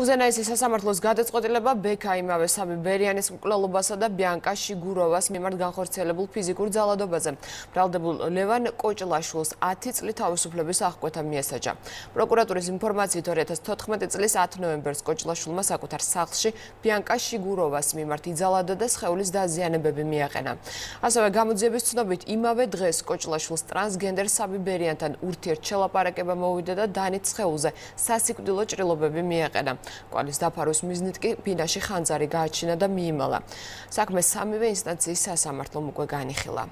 უზენაესი სასამართლოს გადაწყვეტილება ბექა იმავე სამი ბერიანის მკვლელობასა და ბიანკა შიგუროვას მიმართ განხორციელებულ ფიზიკურ ძალადობაზე. ბრალდებულ ლევან კოჭლაშვილს 10 წლით თავისუფლების აღკვეთა მიესაჯა. პროკურატურის ინფორმაციით 2014 წლის 10 ნოემბერს კოჭლაშვილმა საკუთარ სახლში ბიანკა შიგუროვას მიმართ იძალადა და სხეულის დაზიანებები მიაყენა. ასევე გამოძიების ცნობით იმავე დღეს კოჭლაშვილს ტრანსგენდერ სამი ბერიანთან ურთიერთშელაპარაკება მოვიდა და დანით სხეულზე სასიკვდილო ჭრილობები მიაყენა. კვალის დაფარვის მიზნით კი ბინაში ხანძარი გააჩინა და მიიმალა. საქმე სამივე ინსტანციის სასამართლომ უკვე განიხილა.